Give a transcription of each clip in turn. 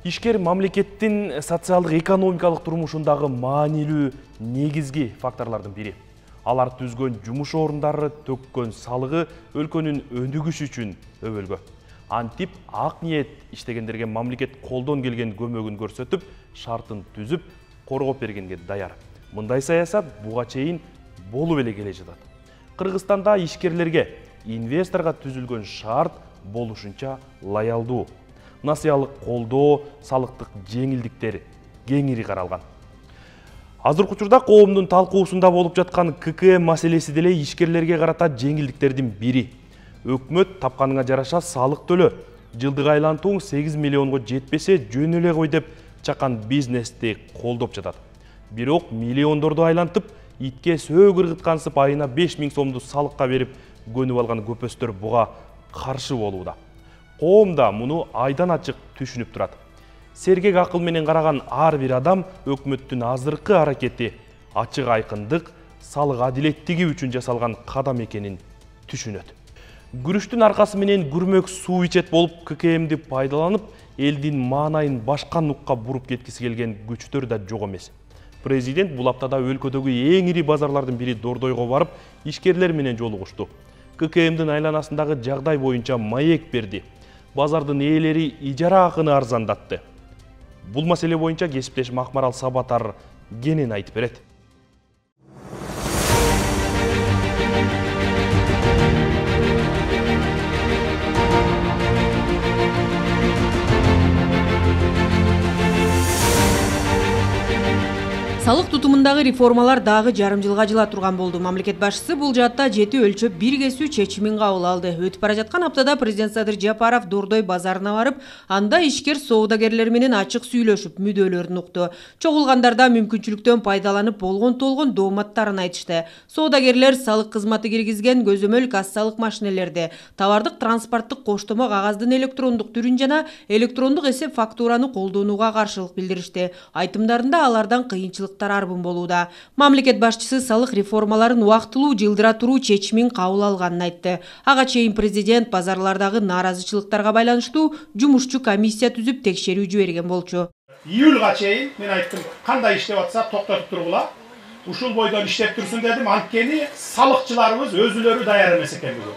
Ишкер мамлекеттин социалдык экономикалык турмушундагы маанилүү негизги факторлордун бири. Алар түзгөн жумуш орундары, төккөн салыгы өлкөнүн өнүгүшү үчүн өбөлгө. Антип ак ниет иштегендерге мамлекет колдон келген көмөгүн көрсөтүп, шартын түзүп, коргоп бергенге даяр. Мындай саясат буга чейин болуп эле келе жатат. Кыргызстанда ишкерлерге инвесторго түзүлгөн шарт болушунча лоялдуу. Насыялык колдоо, салыктык жеңилдиктер кеңири каралган. Азыркы учурда коомдун талкуусунда болуп жаткан ККМ маселеси деле ишкерлерге карата жеңилдиктердин бири. Өкмөт тапканыңа жараша салык төлө. Жылдык айлантууң 8 миллионго жетпесе жөн эле кой деп чакан бизнести колдоп жатат. Бирок миллиондорду айлантып, итке сөө кыргыткансып айына 5 000 сомду салыкка берип көнүп алган көпөстөр буга каршы болууда. Коом да муну айдан ачык түшүнүп турат. Сергек акыл менен караган ар бир адам өкмөттүн азыркы аракети ачык айкындык, салык адилеттиги үчүн жасалган кадам экенин түшүнөт. Күрүштүн аркасы менен күрмөк суу ичет болуп ККМди пайдаланып, элдин маанайын башка нукка буруп кеткиси келген күчтөр да жок эмес. Президент бул аптада өлкөдөгү эң ири базарлардын бири Дордойго барып, ишкерлер менен жолугушту. ККМдин айланасындагы жагдай боюнча маек берди. Базардын ээлери ижара акыны арзандатты. Бул маселе боюнча кесиптешим Акмарал Сабатар кенен айтып берет. Салык тутумундагы реформалар дагы жарым жылга жыла турган болду. Мамлекет башчысы бул жаатта жети өлчөп бир кесүү чечимин кабыл алды. Өтүп бара жаткан аптада президент Садыр Жапаров Дордой базарына барып, анда ишкер соодагерлер менен ачык сүйлөшүп, мүдөлөрүн укту. Чогулгандар да мүмкүнчүлүктөн пайдаланып болгон дооматтарын айтышты. Соодагерлер салык кызматы киргизген көзөмөл кассалык машинелерди, товардык транспорттук коштомо кагаздын электрондук түрүн жана электрондук эсеп фактураны колдонууга каршылык билдиришти. Айтымдарында алардан кыйынчылык арбын болууда. Мамлекет башчысы салык реформаларын убактылуу жылдыра туруу чечимин кабыл алганын айтты. Ага чейин президент базарлардагы нааразычылыктарга байланыштуу жумушчу комиссия түзүп текшерүү жиберген болчу. Июлга чейин мен айттым, кандай иштеп атса токтотуп тургула. Ушул бойдон иштеп турсун дедим, анткени салыкчыларыбыз өзүлөрү даяр эмес экен бүгүн.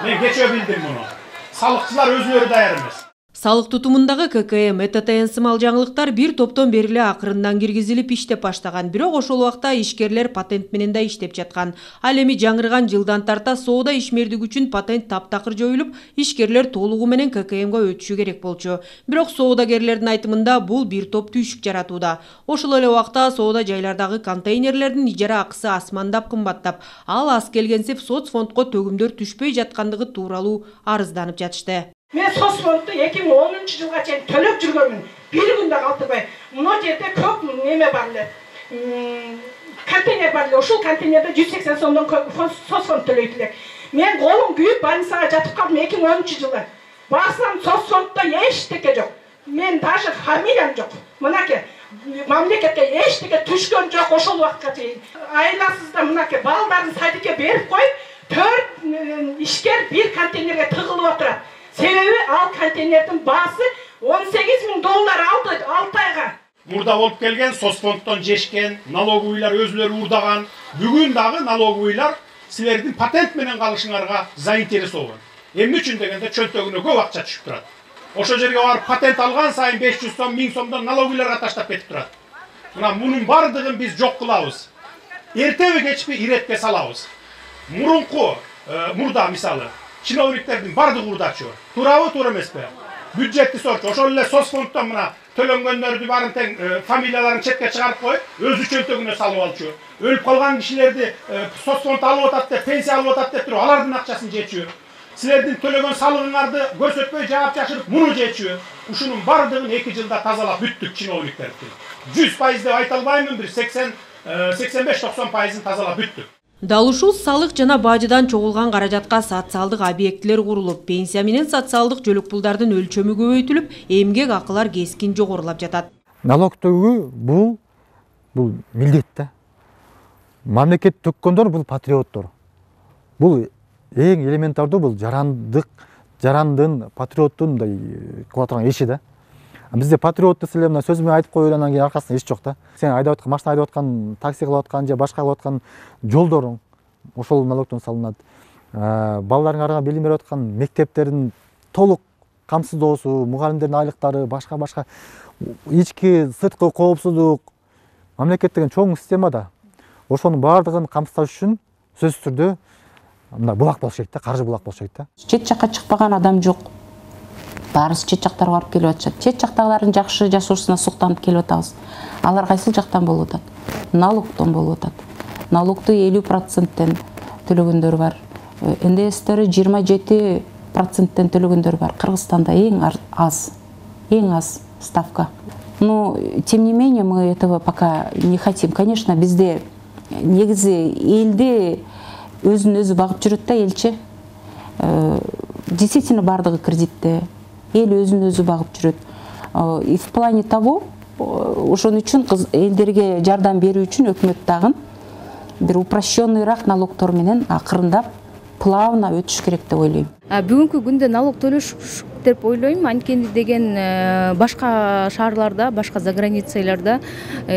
Мен кечээ билдим муну. Салыкчылар өзүлөрү даяр эмес. Салык тутумундагы ККМ ЭТТН сымал жаңылыктар бир топтон бери эле акырындан киргизилип иштеп баштаган. Бирок ошол убакта ишкерлер патент менен да иштеп жаткан. Ал эми жаңырган жылдан тарта соода ишмердиги үчүн патент таптакыр жоюлуп, ишкерлер толугу менен ККМга өтүшү керек болчу. Бирок соодагерлердин айтымында бул бир топ түйшүк жаратууда. Ошол эле убакта соода жайлардагы контейнерлердин ижара акысы асмандап кымбаттап, ал аз келгенсип соцфондго төгүмдөр түшпөй жаткандыгы тууралуу арызданып жатышты. Мен соцфондду 2010 жылга чейин төлөп жүргөнмүн. Бир күндө калтырбай. Мына жерде көп неме бар эле. Контейнер бар эле. Ушул контейнерде 180 сомдон соцфонд төлөйт элек. Мен колум күйүп больницага жатып калдым 2010 жылы. Барсам соцфонддо эчтеке жок. Мен даже фамилиям жок. Мынаке мамлекетке эчтеке түшкөн жок ошол убакытка чейин. Айласызда мынаке балдарын садикке берип коюп, 4 ишкер бир контейнерге тыгылып отурат. Себеби ал контейнердин баасы $18.000 алды 6 айга. Мурда болуп келген соцфонддон жешкен, налоговыйлар өзүлөрү урдаган. Бүгүн дагы налоговыйлар силердин патент менен калышыңарга заинтересован. Эмне үчүн дегенде чөнтөгүнө көп акча түшүп турат. Ошол жерге барып патент алган сайын 500 сом, 1000 сомдон налоговыйларга таштап кетип турат. Мына мунун бардыгын биз жок кылабыз. Эртеби кечпи иретке салабыз. Мурда мисалы чиновниктердин бардыгы урдачу. Туурабы, туура эмеспи? Бюджетти сорчу. Ошол эле соцфонддон мына төлөнгөндөрдү барын тең фамилияларын четке чыгарып коюп, өзү чөнтөгүнө салып алчу. Өлүп калган кишилерди соцфонд алып атат деп, пенсия алып атат деп туруп, алардын акчасын жечү. Силердин төлөгөн салыгыңарды көрсөтпөй жаап жашырып, муну жечү. Ушунун бардыгын 2 жылда тазалап бүттүк чиновниктерди. 100% деп айта албаймын, бир 85-90% тазалап бүттүк. Дал ушул салык жана бажыдан чогулган каражатка социалдык объектилер курулуп, пенсия менен социалдык жөлөк пулдардын өлчөмү көбөйтүлүп, эмгек акылар кескин жогорулап жатат. Налог төгүү бул милдет да. Мамлекет төккөндөр бул патриоттор. Бул эң элементардуу, бул жарандын, патриоттун кылатырган иши да. Бизде патриот десе эле мына сөз менен айтып коюп анан кийин аркасында эч жок да. Сен айдап аткан машина айдап аткан, такси кылып аткан же башка кылып аткан жолдоруң ошол налогтон салынат. Балдарыңа арага билим берип аткан мектептердин толук камсыздоосу, мугалимдердин айлыктары, башка ички сырткы коопсуздук, мамлекет деген чоң система да. Ошонун баардыгын камсыздаш үчүн сөзсүз түрдө мына булак болуш керек да, каржы булак болуш керек да. Чет жакка чыкпаган адам жок. Баарыбыз чет жактарга барып келип атышат. Чет жактагылардын жакшы жашоосуна суктанып келип атабыз. Алар кайсыл жактан болуп атат? Налогтон болуп атат. Налогду 50%тен төлөгөндөр бар. НДСтери 27%тен төлөгөндөр бар. Кыргызстанда эң аз ставка. Но тем не менее мы этого пока не хотим. Конечно, бизде негизи элди өзүн өзү багып жүрөт да элчи. Действительно бардыгы кредитте. Эл өзүн өзү багып жүрөт. И в плане того, ошон үчүн элдерге жардам берүү үчүн өкмөт дагы бир упрощенныйраак налогтор менен акырындап плавно өтүш керек деп ойлойм. Бүгүнкү күндө налог төлөш деп ойлойм. Анткени деген башка шаарларда, башка заграницаларда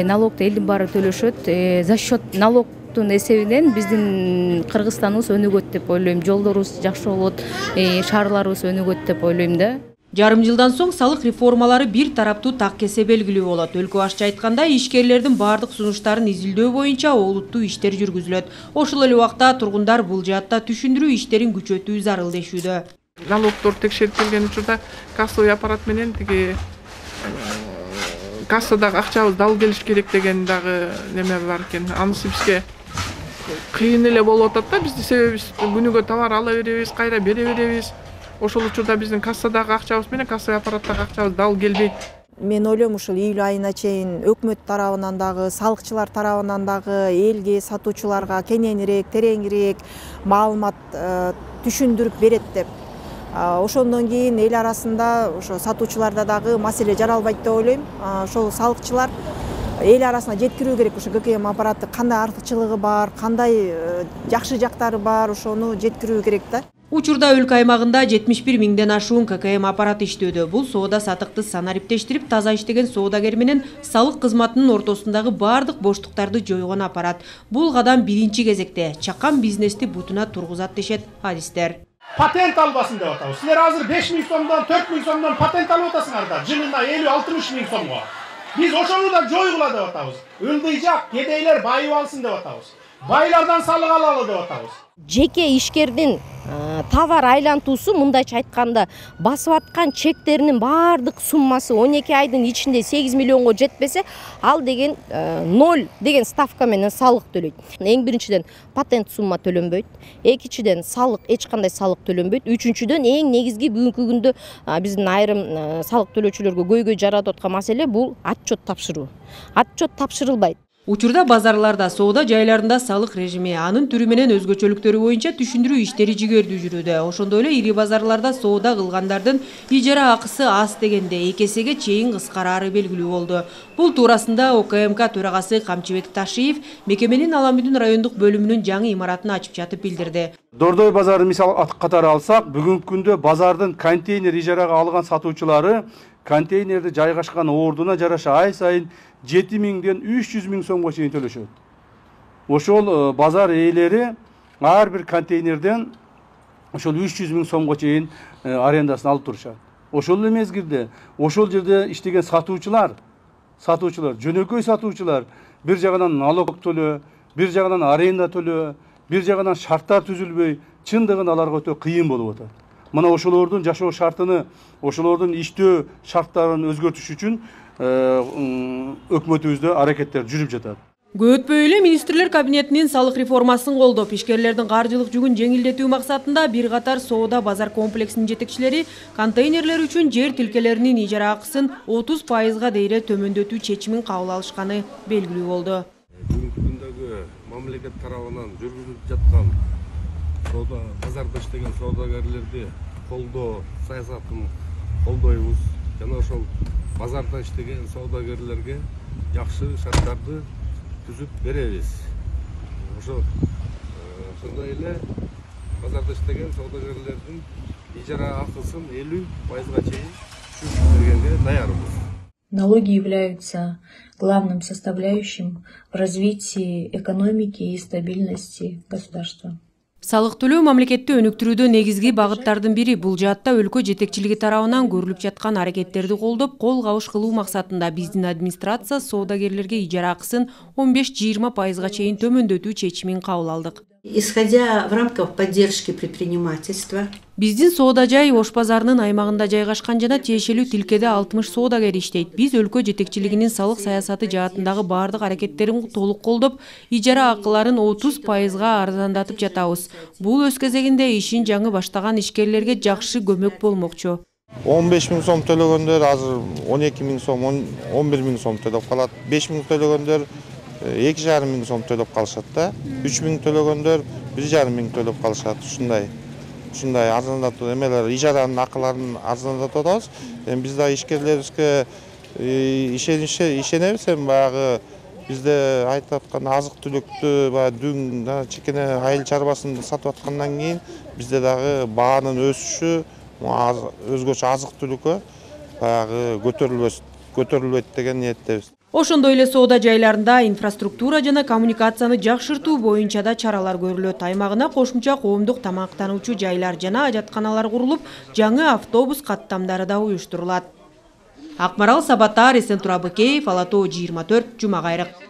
налогду элдин баары төлөшөт. За счет налогтун эсебинен биздин Кыргызстаныбыз өнүгөт деп ойлойм. Жолдорубуз жакшы болот, шаарларыбыз өнүгөт деп ойлойм да. Жарым жылдан соң салык реформалары бир тараптуу так кесе белгилүү болот. Өлкө башчы айтканда, ишкерлердин бардык сунуштарын изилдөө боюнча олуттуу иштер жүргүзүлөт. Ошол эле убакта тургундар бул жаатта түшүндүрүү иштерин күчөтүү зарыл дешүүдө. Налогдор текшерип келген учурда кассовый аппарат менен тиги кассадагы акчабыз дал келиш керек деген дагы неме бар экен. Анысы бизге кыйын эле болуп атат да. Бизди себеби күнүгө товар ала беребиз, кайра бере беребиз. Ошол учурда биздин кассадагы акчабыз менен кассовый аппараттагы акчабыз дал келбейт. Мен ойлойм ушул июль айына чейин өкмөт тарабынан дагы, салыкчылар тарабынан дагы элге, сатуучуларга кененирээк, тереңирээк маалымат түшүндүрүп берет деп. Ошондон кийин эл арасында ошо сатуучуларда дагы маселе жаралбайт деп ойлойм. Ошол салыкчылар эл арасына жеткирүү керек, ушу ГКМ аппараты кандай артыкчылыгы бар, кандай жакшы жактары бар, ошону жеткирүү керек да. Учурда өлкө аймагында 71 миңден ашуун ККМ аппараты иштөөдө. Бул соода сатыкты санариптештирип, таза иштеген соодагер менен салык кызматынын ортосундагы бардык боштуктарды жойгон аппарат. Бул кадам биринчи кезекте чакан бизнести бутуна тургузат дешет адистер. Патент албасын деп атабыз. Силер азыр 5 миң сомдон, 4 миң сомдон патент алып атасыңар да. Жылына 50-60 миң сомго. Биз ошону да жойгула деп атабыз. Ылдыйжак кедейлер байып алсын деп атабыз. Байлардан салык алалы деп атабыз. Жеке ишкердин товар айлантуусу мындайча айтканда басып аткан чектеринин баардык суммасы 12 айдын ичинде 8 миллионго жетпесе, ал деген 0 деген ставка менен салык төлөйт. Эң биринчиден патент сумма төлөнбөйт, экинчиден салык, эч кандай салык төлөнбөйт, үчүнчүдөн эң негизги бүгүнкү күндө биздин айрым салык төлөөчүлөргө көйгөй жаратып аткан маселе бул отчет тапшыруу. Отчет тапшырылбайт. Учурда базарларда, соода жайларында салык режими, анын түрү менен өзгөчөлүктөрү боюнча түшүндүрүү иштери жигердүү жүрүүдө. Ошондой эле ири базарларда соода кылгандардын ижара акысы аз дегенде 2 эсеге чейин кыскарары белгилүү болду. Бул туурасында ОКМК төрагасы Камчыбек Ташиев мекеменин Аламүдүн райондук бөлүмүнүн жаңы имаратын ачып жатып билдирди. Дордой базарын мисал катары алсак, бүгүнкү күндө базардын контейнер ижарага алган сатуучулары контейнерди жайгашкан ордуна жараша ай сайын 7 миңден 300 миң сомго чейин төлөшөт. Ошол базар ээлери ар бир контейнерден ошол 300 миң сомго чейин арендасын алып турушат. Ошол эле мезгилде ошол жерде иштеген сатуучулар, жөнөкөй сатуучулар бир жагынан налог төлөө, бир жагынан аренда төлөө, бир жагынан шарттар түзүлбөй, чындыгын аларга өтө кыйын болуп атат. Мына ошолордун жашоо шартыны, ошолордун иштөө шарттарын өзгөртүш үчүн өкмөтүбүздө аракеттер жүрүп жатат. Көп өтпөй эле министрлер кабинетинин салык реформасын колдоп, ишкерлердин каржылык жүгүн жеңилдетүү максатында бир катар соода базар комплексинин жетекчилери контейнерлер үчүн жер тилкелеринин ижара акысын 30%га дейре төмөндөтүү чечимин кабыл алышканы белгилүү болду. Бүгүнкү күндөгү мамлекет тарабынан жүргүзүлүп жаткан соода базарда иштеген соодагерлерди колдоо саясатын колдойбуз жана ошол базарда иштеген соодагерлерге жакшы шарттарды түзүп беребиз. Ошондой эле базарда иштеген соодагерлердин ижара акысын 50%га чейин түзүп бергенге даярбыз. Налоги являются главным составляющим в развитии экономики и стабильности государства. Салык төлөө мамлекетти өнүктүрүүдө негизги багыттардын бири. Бул жаатта өлкө жетекчилиги тарабынан көрүлүп жаткан аракеттерди колдоп, кол кабыш кылуу максатында биздин администрация соодагерлерге ижара акысын 15-20% чейин төмөндөтүү чечимин кабыл алдык. Исходя в рамках поддержки предпринимательства. Биздин соода жай Ош базарынын аймагында жайгашкан жана тиешелүү тилкеде 60 соодагер иштейт. Биз өлкө жетекчилигинин салык саясаты жаатындагы бардык аракеттерин толук колдоп, ижара акыларын 30%га арзандатып жатабыз. Бул өз кезегинде ишин жаңы баштаган ишкерлерге жакшы көмөк болмокчу. 15 000 сом төлөгөндөр азыр 12 000 сом, 11 000 сом төлөп калат. 5 000 төлөгөндөр 2,5 000 сом төлөп калышат да. 3 000 төлөгөндөр 1,5 000 төлөп калышат. Ушундай арзандатуу эмелер, ижаранын акыларын арзандатып атабыз. Биз да ишкерлерибизге ишенебиз, баягы бизде айтып аткан азык-түлүктү, баягы дүң, чекене айыл чарбасын сатып аткандан кийин бизде дагы баанын өсүшү, өзгөчө азык-түлүккө баягы көтөрүлбөйт деген ниеттебиз. Ошондой эле соода жайларында инфраструктура жана коммуникацияны жакшыртуу боюнча да чаралар көрүлөт. Аймагына кошумча коомдук тамактануучу жайлар жана ажатканалар курулуп, жаңы автобус каттамдары да уюштурулат. Акмарал Сабатар, Эсен Турабыкеев, Ала Тоо 24, Жума Кайрык.